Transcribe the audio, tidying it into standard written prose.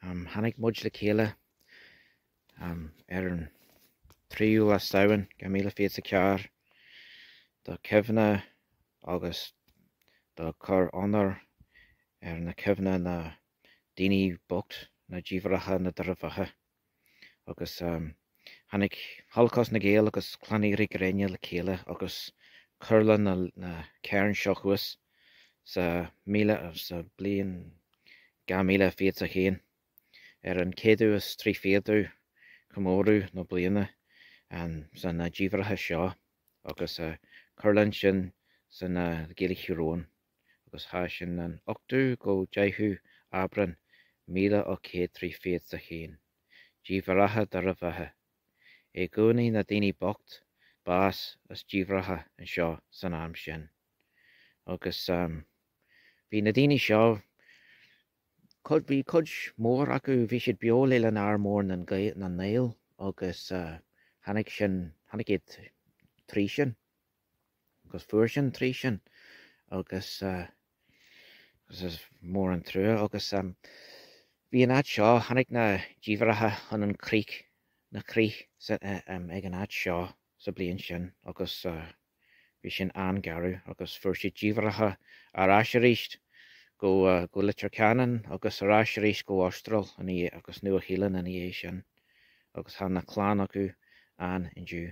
Tháinig muid le chéile ar an 3ú lá Samhain 2024 do cuimhne agus do cur onóir ar na cuimhne na daoine bocht, na díbhearracha, na Doire Bheatha. Agus tháinig Holocaust na Gael agus Clann Éirí Gréine le chéile agus cur le na cairn seo thuas sa míle sa bliain 2021 ar an 130ú comóradh na bliana san na díbhearracha seo agus cur linn sin san Gaeilge Thír Eoghain. agus thá sin an 8ú go 10ú Aibreán 1831. Díbhearracha Doire Bheatha. I gcónaí na daoine bocht bás as díbhearracha anseo san am sin. Agus bhí na daoine seo, cuid, bhí cuid mór acu, bhí siad beo le linn Ár Mór na nGael agus tháinig sin, tháinig iad trí sin. agus fuair sin trí sin agus agus is mór an trua agus bhí an áit seo, tháinig na díbhearracha chun an crích, na crích ag an áit seo sa bliain sin agus bhí sin an-gharbh agus fuair siad díbhearracha ar ais arís go go Leitir Ceanainn agus ar ais arís go Astráil ina dhiaidh agus Nua Shéalainn ina dhiaidh sin agus tá na clann acu ann inniu.